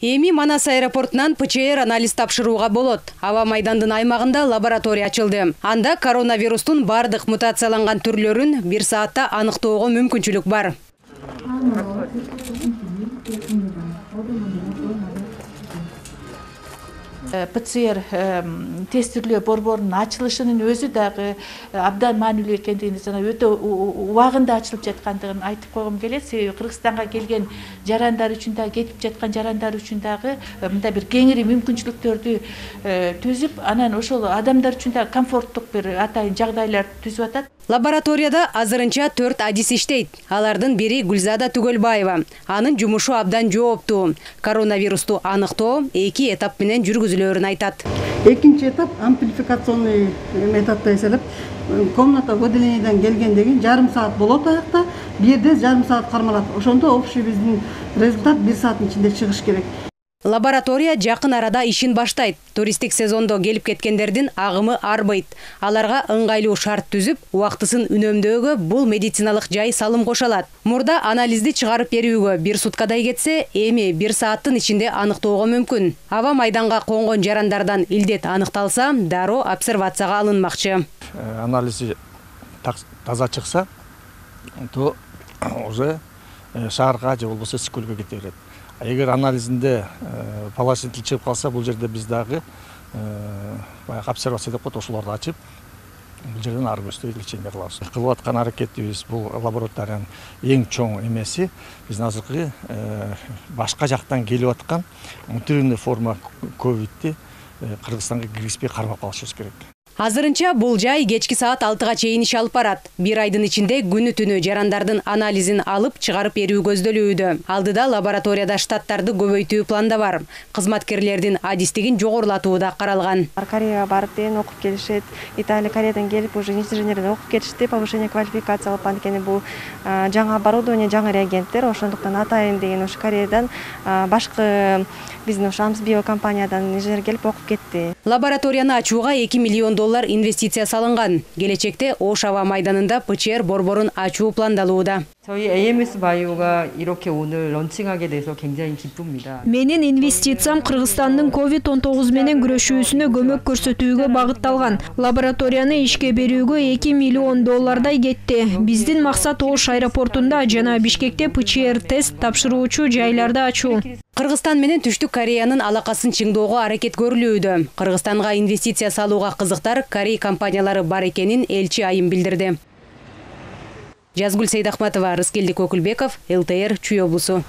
Эми Манас аэропортунан ПЧР анализ тапшырууга болот. Аба майдандын аймагында лаборатория ачылды. Анда коронавирустун бардык мутацияланган түрлөрүн 1 саатта аныктоого мүмкүнчүлүк бар. ПЦР тестирлөө борборунун ачылышынын өзү дагы абдан маанилүү экендигин жана өтө убагында ачылып жаткандыгын айтып койгум келет. Себеби Кыргызстанга келген жарандар үчүн да кетип жаткан жарандар үчүн дагы мындай бир кеңири мүмкүнчүлүктөрдү түзүп, анан ошол адамдар үчүн да комфорттук бир атайын жагдайлар түзүп атат. Лабораторияда азырынча 4 адис иштейт. Алардын бири Гүлзада Түгөлбаева. Анын жумушу абдан жооптуу. Коронавирусту аныктоо 2 этап менен жүргүзүлөөрүн айтат. Экинчи этап амплификационный методдо эселеп, комната выделениеден келгенден жарым саат болот аякта, бирде жарым саат кармалат. Ошондо общий биздин результат 1 сааттын ичинде чыгыш керек. Лаборатория жакын арада ишин баштайт. Туристтик сезондо келип кеткендердин агымы арбайт. Аларга ыңгайлуу шарт түзүп, убактысын үнөмдөөгө бул медициналык жай салым кошалат. Мурда анализди чыгарып берүүгө 1 суткадай кетсе, эми 1 сааттын ичинде аныктоого мүмкүн. Аба майданга конгон жарандардан илдет аныкталса, дароо обсервацияга алынмакчы. Анализи таза чыкса, то уже шаарга же болбосо Скөлгө кете берет. Эгер анализинде положительный чыгып калса, бул жерде биз дагы обсервация деп коет, ошолорду ачып, бул жерден ары көздөй лечение кылабыз. Кылып аткан аракетибиз бул лабораториянын эң чоң эмеси. Биз азыркы башка жактан келип аткан мутированный форма ковидти Кыргызстанга киргизбей кармап калышыбыз керек. Азырынча бул жай кечки саат 6-га чейин иш алып барат. 1 айдын ичинде күнү-түнү жарандардын анализин алып чыгарып берүү көздөлүүдө. Алдыда лабораторияда штаттарды көбөйтүү планда бар. Кызматкерлердин адистигин жогорулатуу да каралган. Кореяга барып окуп келишет. Италия, Кореядан келип уже инженерден окуп келишти, повышение квалификации алып анткени бул жаңы оборудование, жаңы реагенттер, ошондуктан атайын деген ошо Кореядан башкы биздин ошо Амсбио компаниядан инженер келип окуп кетти. Лабораторияны ачууга $2 миллион инвестиция салынган. Келечекте Ош аба майданында ПЧР борборун ачуу пландалууда. 저희 AMS 바이오가 이렇게 오늘 런칭하게 돼서 굉장히 기쁩니다. Менин инвестициям Кыргызстандын COVID-19 менен күрөшүүсүнө көмөк көрсөтүүгө багытталган. Лабораторияны ишке берүүгө $2 миллион кетти. Биздин максат Ош аэропортунда жана Бишкекте ПЧР тест тапшыруучу жайларды ачуу. Кыргызстан менен Түштүк Кореянын алакасын чыңдоого аракет көрүлүүдө. Кыргызстанга инвестиция салууга кызыктар Корей компаниялары бар экенин элчи айым билдирди. Жазгүл Сейдахматова, Рыскелдик Окулбеков, ЛТР, Чүй облусу.